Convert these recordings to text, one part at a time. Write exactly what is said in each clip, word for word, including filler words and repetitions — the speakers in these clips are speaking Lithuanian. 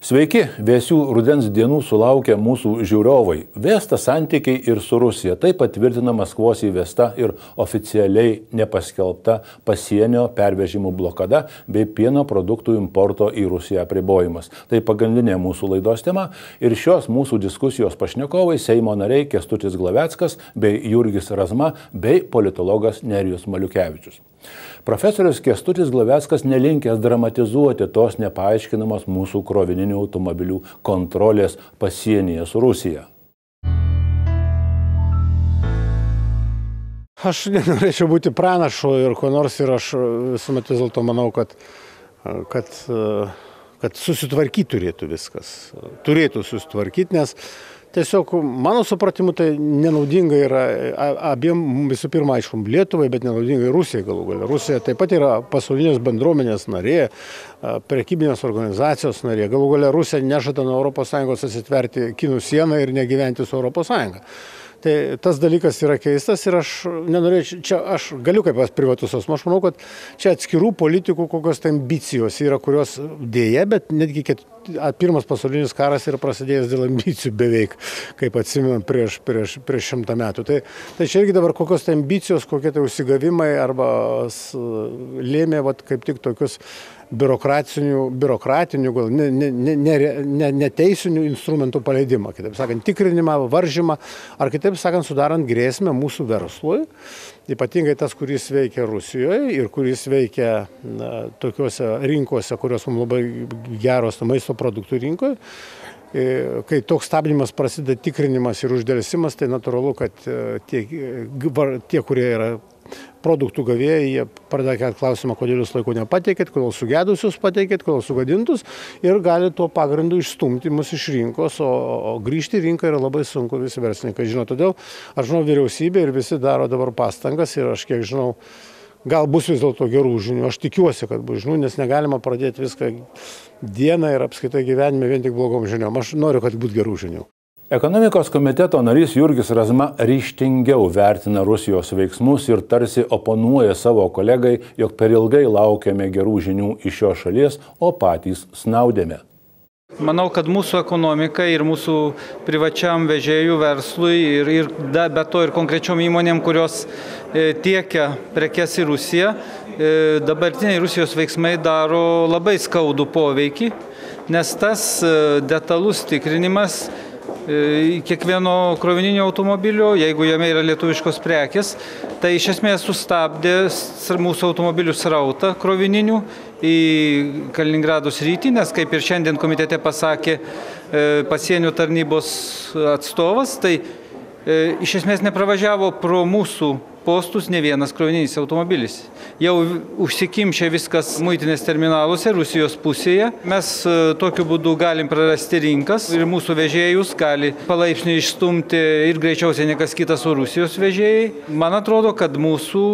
Sveiki, vėsių rudens dienų sulaukia mūsų žiūrovai. Vėsta santykiai ir su Rusija. Tai patvirtina Maskvos įvesta ir oficialiai nepaskelbta pasienio pervežimų blokada bei pieno produktų importo į Rusiją apribojimas. Tai pagrindinė mūsų laidos tema ir šios mūsų diskusijos pašnekovai Seimo nariai Kęstutis Glaveckas bei Jurgis Razma bei politologas Nerijus Maliukevičius. Profesorius Kęstutis Glaveckas nelinkęs dramatizuoti tos nepaaiškinamos mūsų krovininių automobilių kontrolės pasienyje su Rusija. Aš nenorėčiau būti pranašu ir ko nors ir aš visuomet vis dėlto manau, kad, kad, kad susitvarkyti turėtų viskas. Turėtų susitvarkyti, nes tiesiog mano supratimu tai nenaudinga yra abiem, visų pirma, aišku, Lietuvai, bet nenaudinga Rusijai galų gale. Rusija taip pat yra pasaulinės bendruomenės narė, prekybinės organizacijos narė. Galų gale Rusija nežada nuo Europos Sąjungos atsitverti kinų sieną ir negyventi su Europos Sąjunga. Tai tas dalykas yra keistas ir aš nenorėčiau, čia aš galiu kaip privatus asmuo, aš manau, kad čia atskirų politikų kokios tai ambicijos yra, kurios dėja, bet netgi ket, pirmas pasaulinis karas yra prasidėjęs dėl ambicijų beveik, kaip atsimenam, prieš, prieš, prieš šimtą metų. Tai, tai čia irgi dabar kokios tai ambicijos, kokie tai užsigavimai arba lėmė vat, kaip tik tokius biurokratinių, biurokratinių gal ne, ne, ne, ne, neteisinių instrumentų paleidimą, kitaip sakant, tikrinimą, varžymą, ar kitaip sakant, sudarant grėsmę mūsų verslui, ypatingai tas, kuris veikia Rusijoje ir kuris veikia na, tokiuose rinkose, kurios mums labai geros maisto produktų rinkoje. Kai toks stabdymas prasideda tikrinimas ir uždėlsimas, tai natūralu, kad tie, tie kurie yra produktų gavėjai, jie pradeda kelti klausimą, kodėl jūs laiko nepateikėt, kodėl sugedusius pateikėt, kodėl sugadintus ir gali tuo pagrindu išstumti mus iš rinkos, o, o grįžti į rinką yra labai sunku, visi verslininkai žino. Todėl aš žinau, vyriausybė ir visi daro dabar pastangas ir aš kiek žinau, gal bus vis dėlto gerų žinių. Aš tikiuosi, kad bus žinių, nes negalima pradėti viską dieną ir apskaitai gyvenime vien tik blogom žiniom. Aš noriu, kad būtų gerų žinių. Ekonomikos komiteto narys Jurgis Razma ryžtingiau vertina Rusijos veiksmus ir tarsi oponuoja savo kolegai, jog per ilgai laukiame gerų žinių iš šios šalies, o patys snaudėme. Manau, kad mūsų ekonomika ir mūsų privačiam vežėjų verslui ir, ir da, be to ir konkrečiom įmonėm, kurios e, tiekia prekes į Rusiją, e, dabartiniai Rusijos veiksmai daro labai skaudų poveikį, nes tas e, detalus tikrinimas kiekvieno krovininio automobilio, jeigu jame yra lietuviškos prekės, tai iš esmės sustabdė mūsų automobilių srautą krovininių į Kaliningrado sritį, nes kaip ir šiandien komitete pasakė pasienio tarnybos atstovas, tai iš esmės nepravažiavo pro mūsų postus ne vienas krovininis automobilis. Jau užsikimšė viskas muitinės terminaluose Rusijos pusėje. Mes tokiu būdu galim prarasti rinkas ir mūsų vežėjus gali palaipsniui išstumti ir greičiausiai nekas kitas o Rusijos vežėjai. Man atrodo, kad mūsų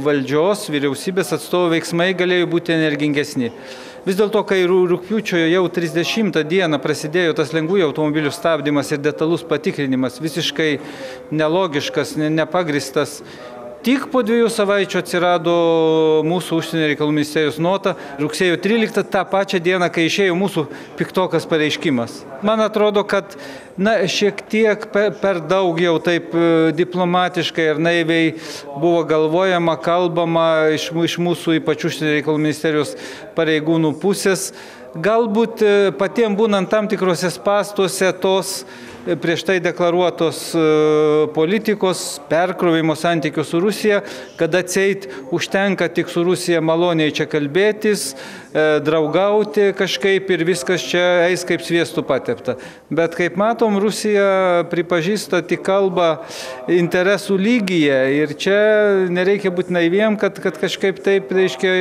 valdžios, vyriausybės atstovų veiksmai galėjo būti energingesni. Vis dėlto, kai rugpjūčio jau trisdešimtą dieną prasidėjo tas lengvųjų automobilių stabdymas ir detalus patikrinimas, visiškai nelogiškas, nepagristas, tik po dviejų savaičių atsirado mūsų užsienio reikalų ministerijos nota, rugsėjo tryliktą, tą pačią dieną, kai išėjo mūsų piktokas pareiškimas. Man atrodo, kad na, šiek tiek per daug jau taip diplomatiškai ir naiviai buvo galvojama, kalbama iš, iš mūsų ypač užsienio reikalų ministerijos pareigūnų pusės. Galbūt patiems būnant tam tikrose spąstuose tos prieš tai deklaruotos politikos perkrovimo santykių su Rusija, kad atseit užtenka tik su Rusija maloniai čia kalbėtis, draugauti kažkaip ir viskas čia eis kaip sviestų patepta. Bet kaip matom, Rusija pripažįsta tik kalbą interesų lygyje ir čia nereikia būti naiviem, kad, kad kažkaip taip, reiškia,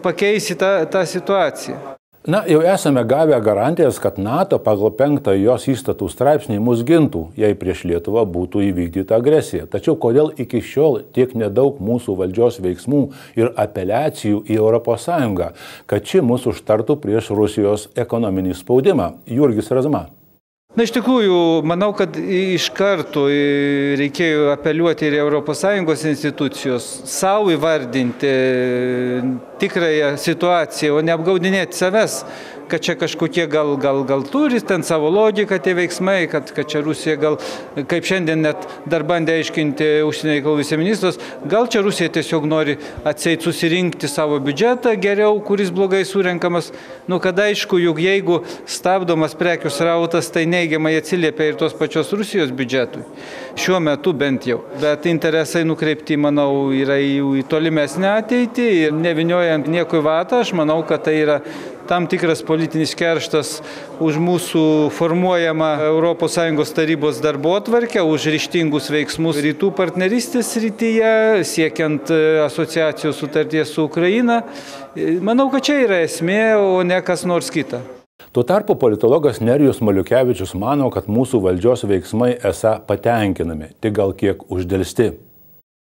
pakeisi tą, tą situaciją. Na, jau esame gavę garantijas, kad NATO pagal penktą jos įstatų straipsnį mus gintų, jei prieš Lietuvą būtų įvykdyta agresija. Tačiau kodėl iki šiol tiek nedaug mūsų valdžios veiksmų ir apeliacijų į Europos Sąjungą, kad ši mus užtartų prieš Rusijos ekonominį spaudimą? Jurgis Razma. Na, iš tikrųjų, manau, kad iš karto reikėjo apeliuoti ir Europos Sąjungos institucijos, savo įvardinti tikrąją situaciją, o neapgaudinėti savęs. kad čia kažkokie gal, gal, gal turi ten savo logiką tie veiksmai, kad, kad čia Rusija gal, kaip šiandien net dar bandė aiškinti užsienio reikalų viceministras, gal čia Rusija tiesiog nori atseit susirinkti savo biudžetą geriau, kuris blogai surenkamas. Nu, kad aišku, juk jeigu stabdomas prekių srautas, tai neigiamai atsiliepia ir tos pačios Rusijos biudžetui. Šiuo metu bent jau. Bet interesai nukreipti, manau, yra į tolimesnę ateitį ir neviniojant nieko į vatą, aš manau, kad tai yra tam tikras politinis kerštas už mūsų formuojamą Europos Sąjungos tarybos darbotvarkę, už ryžtingus veiksmus rytų partnerystės srityje, siekiant asociacijos sutarties su Ukraina. Manau, kad čia yra esmė, o ne kas nors kita. Tuo tarpu politologas Nerijus Maliukevičius mano, kad mūsų valdžios veiksmai esą patenkinami, tik gal kiek uždelsti.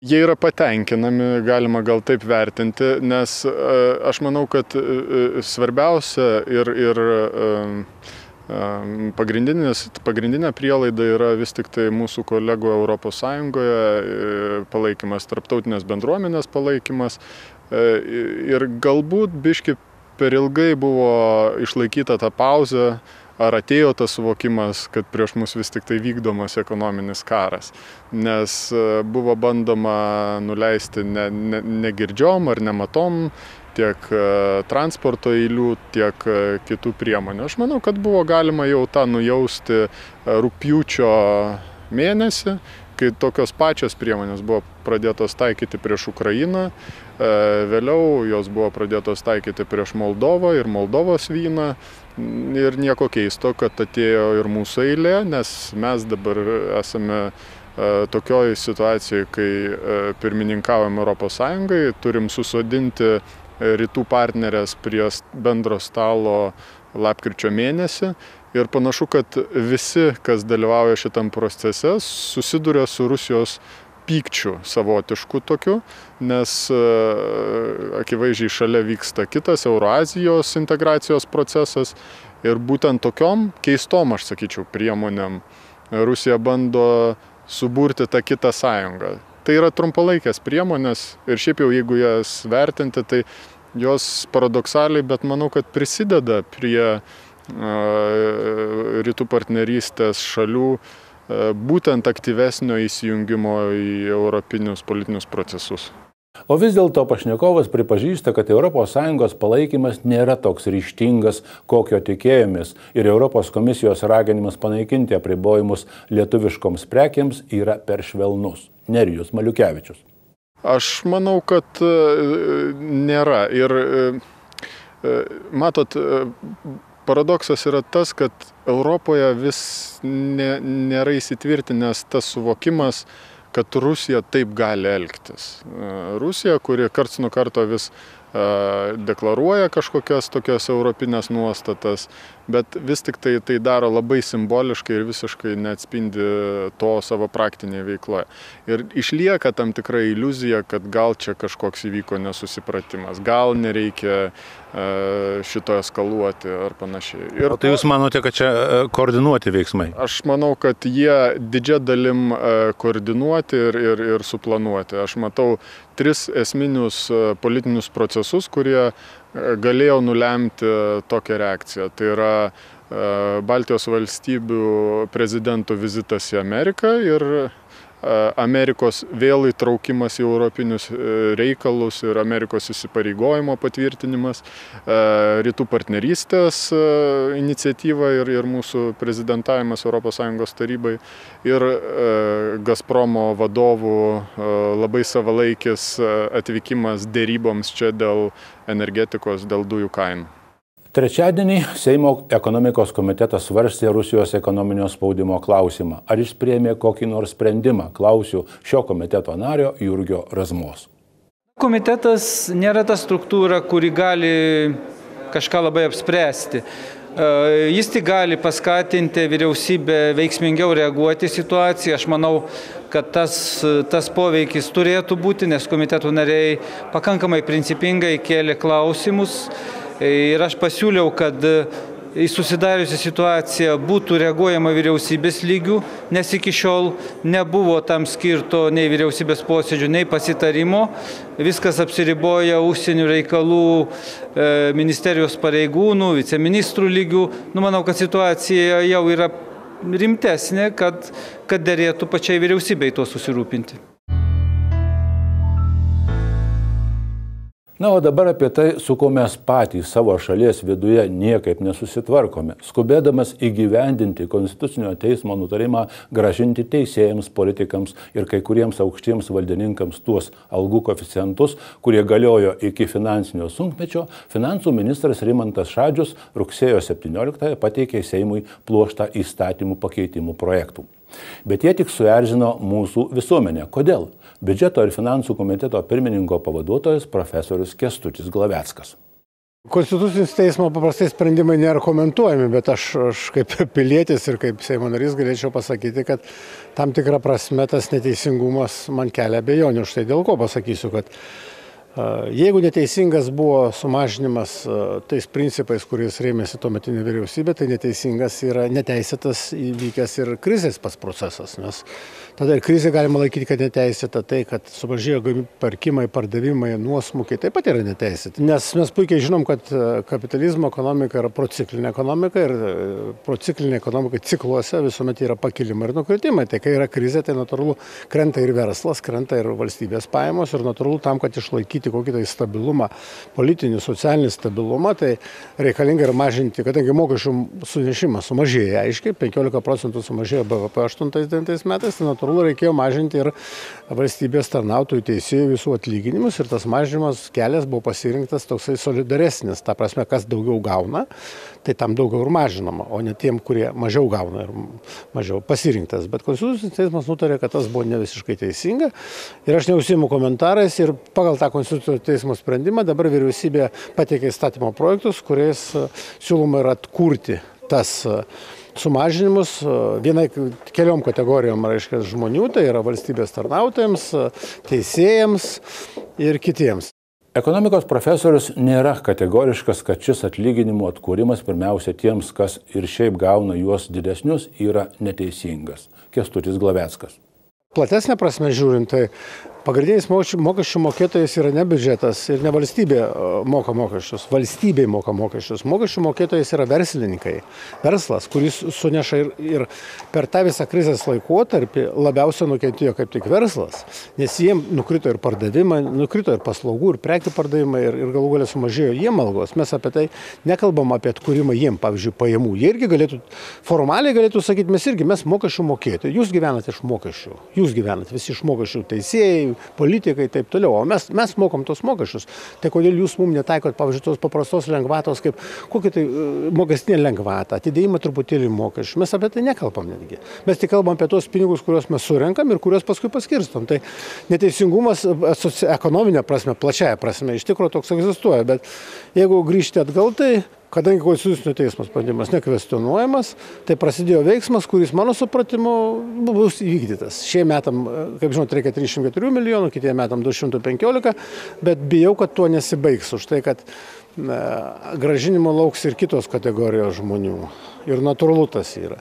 Jie yra patenkinami, galima gal taip vertinti, nes aš manau, kad svarbiausia ir, ir pagrindinė prielaida yra vis tik tai mūsų kolegų Europos Sąjungoje palaikymas, tarptautinės bendruomenės palaikymas ir galbūt biški per ilgai buvo išlaikyta ta pauzė, ar atėjo tas suvokimas, kad prieš mus vis tik tai vykdomas ekonominis karas. Nes buvo bandoma nuleisti ne, ne, negirdžiom ar nematom tiek transporto eilių, tiek kitų priemonių. Aš manau, kad buvo galima jau tą nujausti rugpjūčio mėnesį, kai tokios pačios priemonės buvo pradėtos taikyti prieš Ukrainą, vėliau jos buvo pradėtos taikyti prieš Moldovą ir Moldovos vyną. Ir nieko keisto, kad atėjo ir mūsų eilė, nes mes dabar esame tokioj situacijai, kai pirmininkaujam Europos Sąjungai, turim susodinti rytų partnerės prie bendro stalo lapkričio mėnesį. Ir panašu, kad visi, kas dalyvauja šitam procese, susiduria su Rusijos pykčiu savotišku tokiu, nes akivaizdžiai šalia vyksta kitas Euroazijos integracijos procesas ir būtent tokiom keistom, aš sakyčiau, priemonėm Rusija bando suburti tą kitą sąjungą. Tai yra trumpalaikės priemonės ir šiaip jau jeigu jas vertinti, tai jos paradoksaliai, bet manau, kad prisideda prie rytų partnerystės šalių būtent aktyvesnio įsijungimo į europinius politinius procesus. O vis dėlto pašnekovas pripažįsta, kad Europos Sąjungos palaikymas nėra toks ryžtingas, kokio tikėjomės, ir Europos komisijos raginimas panaikinti apribojimus lietuviškoms prekiams yra per švelnus. Nerijus Maliukevičius. Aš manau, kad nėra. Ir matot, paradoksas yra tas, kad Europoje vis ne, nėra įsitvirtinęs tas suvokimas, kad Rusija taip gali elgtis. Rusija, kuri karts nuo karto vis deklaruoja kažkokias tokias europinės nuostatas, bet vis tik tai tai daro labai simboliškai ir visiškai neatspindi to savo praktinėje veikloje. Ir išlieka tam tikra iliuzija, kad gal čia kažkoks įvyko nesusipratimas, gal nereikia šito eskaluoti ar panašiai. Ir o tai jūs manote, kad čia koordinuoti veiksmai? Aš manau, kad jie didžia dalim koordinuoti ir, ir, ir suplanuoti. Aš matau tris esminius politinius procesus, kurie galėjo nulemti tokią reakciją. Tai yra Baltijos valstybių prezidentų vizitas į Ameriką ir Amerikos vėl įtraukimas į europinius reikalus ir Amerikos įsipareigojimo patvirtinimas, rytų partnerystės iniciatyva ir, ir mūsų prezidentavimas Europos Sąjungos tarybai ir Gazpromo vadovų labai savalaikis atvykimas dėryboms čia dėl energetikos, dėl dujų kainų. Trečiadienį Seimo ekonomikos komitetas svarstė Rusijos ekonominio spaudimo klausimą. Ar jis priėmė kokį nors sprendimą? Klausiu šio komiteto nario Jurgio Razmos. Komitetas nėra ta struktūra, kuri gali kažką labai apspręsti. Jis tik gali paskatinti vyriausybę veiksmingiau reaguoti į situaciją. Aš manau, kad tas, tas poveikis turėtų būti, nes komiteto nariai pakankamai principingai kėlė klausimus. Ir aš pasiūliau, kad į susidariusią situaciją būtų reaguojama vyriausybės lygių, nes iki šiol nebuvo tam skirto nei vyriausybės posėdžių, nei pasitarimo. Viskas apsiriboja užsienio reikalų ministerijos pareigūnų, viceministrų lygių. Nu, manau, kad situacija jau yra rimtesnė, kad, kad derėtų pačiai vyriausybei tuo susirūpinti. Na, o dabar apie tai, su kuo mes patys savo šalies viduje niekaip nesusitvarkome, skubėdamas įgyvendinti Konstitucinio teismo nutarimą grąžinti teisėjams, politikams ir kai kuriems aukštiems valdininkams tuos algų koeficientus, kurie galiojo iki finansinio sunkmečio, finansų ministras Rimantas Šadžius rugsėjo septynioliktąją pateikė Seimui pluoštą įstatymų pakeitimų projektų. Bet jie tik suerzino mūsų visuomenę. Kodėl? Biudžeto ir finansų komiteto pirmininko pavaduotojas profesorius Kęstutis Glaveckas. Konstitucinis teismo paprastai sprendimai nėra komentuojami, bet aš, aš kaip pilietis ir kaip Seimo narys galėčiau pasakyti, kad tam tikrą prasme tas neteisingumas man kelia abejonių. Štai dėl ko pasakysiu, kad jeigu neteisingas buvo sumažinimas tais principais, kuriais rėmėsi tuometinė vyriausybė, tai neteisingas yra neteisėtas įvykęs ir krizės pats procesas, nes tada ir krizė galima laikyti, kad neteisėta, tai, kad sumažėjo pirkimai, pardavimai, nuosmukiai, taip pat yra neteisėti. Nes mes puikiai žinom, kad kapitalizmo ekonomika yra prociklinė ekonomika ir prociklinė ekonomika cikluose visuomet yra pakilimai ir nukritimai. Tai kai yra krizė, tai natūralu krenta ir verslas, krenta ir valstybės pajamos ir natūralu tam, kad išlaikyti kokį tai stabilumą, politinį, socialinį stabilumą, tai reikalinga ir mažinti, kadangi mokesčių sunešimas sumažėjo, aiškiai, penkiolika procentų sumažėjo B V P aštuntais devintais metais, tai natūralu reikėjo mažinti ir valstybės tarnautojų, teisėjų visų atlyginimus ir tas mažinimas kelias buvo pasirinktas toksai solidaresnis, ta prasme, kas daugiau gauna, tai tam daugiau ir mažinama, o ne tiem, kurie mažiau gauna ir mažiau pasirinktas. Bet Konstitucinis teismas nutarė, kad tas buvo ne visiškai teisinga ir aš neužsiimu komentarais ir pagal tą Konstitucinio teismo sprendimą dabar vyriausybė pateikė įstatymo projektus, kuriais siūloma yra atkurti tas sumažinimus vienai keliom kategorijom, reiškia, žmonių, tai yra valstybės tarnautojams, teisėjams ir kitiems. Ekonomikos profesorius nėra kategoriškas, kad šis atlyginimų atkūrimas pirmiausia tiems, kas ir šiaip gauna juos didesnius, yra neteisingas. Kęstutis Glaveckas. Platesnė prasme žiūrint, tai pagrindinis mokesčių mokėtojas yra ne biudžetas ir ne valstybė moka mokesčius, valstybė moka mokesčius. Mokesčių mokėtojas yra verslininkai, verslas, kuris suneša ir, ir per tą visą krizės laikotarpį labiausiai nukentėjo kaip tik verslas, nes jiem nukrito ir pardavimai, nukrito ir paslaugų, ir prekių pardavimai, ir, ir galų galia sumažėjo jiem algos. Mes apie tai nekalbam apie atkūrimą jiem, pavyzdžiui, pajamų. Jie irgi galėtų, formaliai galėtų sakyti, mes irgi, mes mokesčių mokėtojai, jūs gyvenate iš mokesčių, jūs gyvenate visi iš mokesčių, teisėjai, politikai, taip toliau, o mes, mes mokam tos mokesčius. Tai kodėl jūs mums netaikot, pavyzdžiui, tos paprastos lengvatos, kaip kokia tai mokestinė lengvata, atidėjimą truputėlį mokesčių. Mes apie tai nekalbam netgi. Mes tik kalbam apie tos pinigus, kuriuos mes surenkam ir kuriuos paskui paskirstom. Tai neteisingumas ekonominė prasme, plačiaja prasme, iš tikrųjų toks egzistuoja, bet jeigu grįžti atgal, tai kadangi Konstitucinio teismo sprendimas nekvestionuojamas, tai prasidėjo veiksmas, kuris mano supratimu bus įvykdytas. Šie metam, kaip žinot, reikia trisdešimt keturių milijonų, kitie metam du šimtai penkiolika, bet bijau, kad tuo nesibaigs už tai, kad na, gražinimo lauks ir kitos kategorijos žmonių. Ir natūralu tas yra.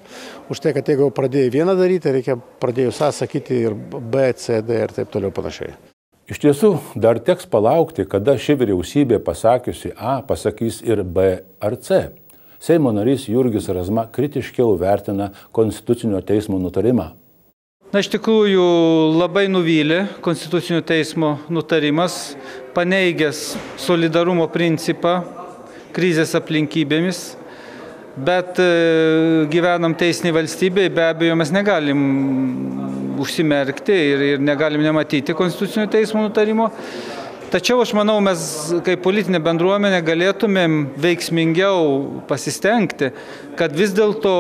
Už tai, kad jeigu pradėjai vieną daryti, reikia pradėjus A sakyti ir B, C, D ir taip toliau panašiai. Iš tiesų, dar teks palaukti, kada ši vyriausybė pasakiusi A pasakys ir B ar C. Seimo narys Jurgis Razma kritiškiau vertina Konstitucinio teismo nutarimą. Na, iš tikrųjų labai nuvylė Konstitucinio teismo nutarimas, paneigęs solidarumo principą krizės aplinkybėmis. Bet gyvenam teisinėj valstybėje, be abejo, mes negalim užsimerkti ir, ir negalim nematyti Konstitucinio teismo nutarimo. Tačiau aš manau, mes kaip politinė bendruomenė galėtumėm veiksmingiau pasistengti, kad vis dėlto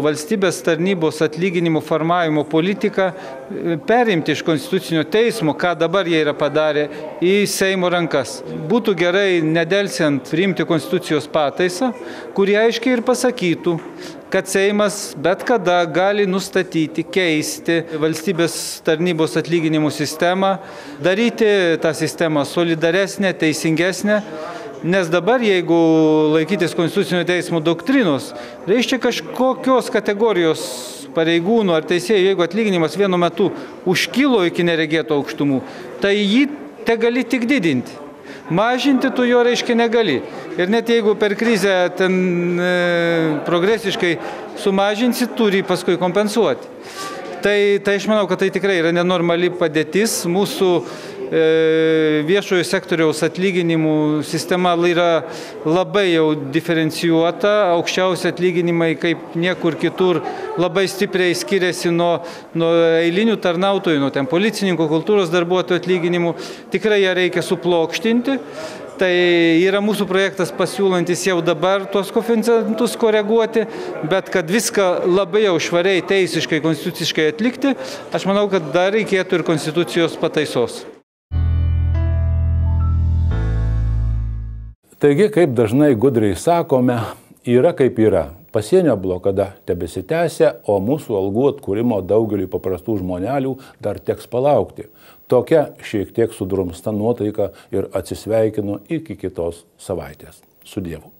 valstybės tarnybos atlyginimų formavimo politiką perimti iš Konstitucinio teismo, ką dabar jie yra padarę, į Seimo rankas. Būtų gerai nedelsiant priimti Konstitucijos pataisą, kurie aiškiai ir pasakytų, kad Seimas bet kada gali nustatyti, keisti valstybės tarnybos atlyginimų sistemą, daryti tą sistemą solidaresnę, teisingesnę Nes dabar, jeigu laikytis Konstitucinio teismo doktrinos, reiškia kažkokios kategorijos pareigūnų ar teisėjų, jeigu atlyginimas vienu metu užkilo iki neregėto aukštumų, tai jį te gali tik didinti. Mažinti tu jo, reiškia, negali. Ir net jeigu per krizę ten e, progresiškai sumažinsi, turi paskui kompensuoti. Tai, tai aš manau, kad tai tikrai yra nenormali padėtis. Mūsų e, viešojo sektoriaus atlyginimų sistema yra labai jau diferencijuota. Aukščiausi atlyginimai kaip niekur kitur labai stipriai skiriasi nuo, nuo eilinių tarnautojų, nuo ten policininkų, kultūros darbuotojų atlyginimų. Tikrai ją reikia suplokštinti. Tai yra mūsų projektas pasiūlantis jau dabar tuos koeficientus koreguoti, bet kad viską labai jau švariai, teisiškai, konstituciškai atlikti, aš manau, kad dar reikėtų ir konstitucijos pataisos. Taigi, kaip dažnai gudriai sakome, yra kaip yra. Pasienio blokada tebesitęsia, o mūsų algų atkūrimo daugeliui paprastų žmonelių dar teks palaukti. Tokia šiek tiek sudrumsta nuotaika ir atsisveikinu iki kitos savaitės. Su Dievu.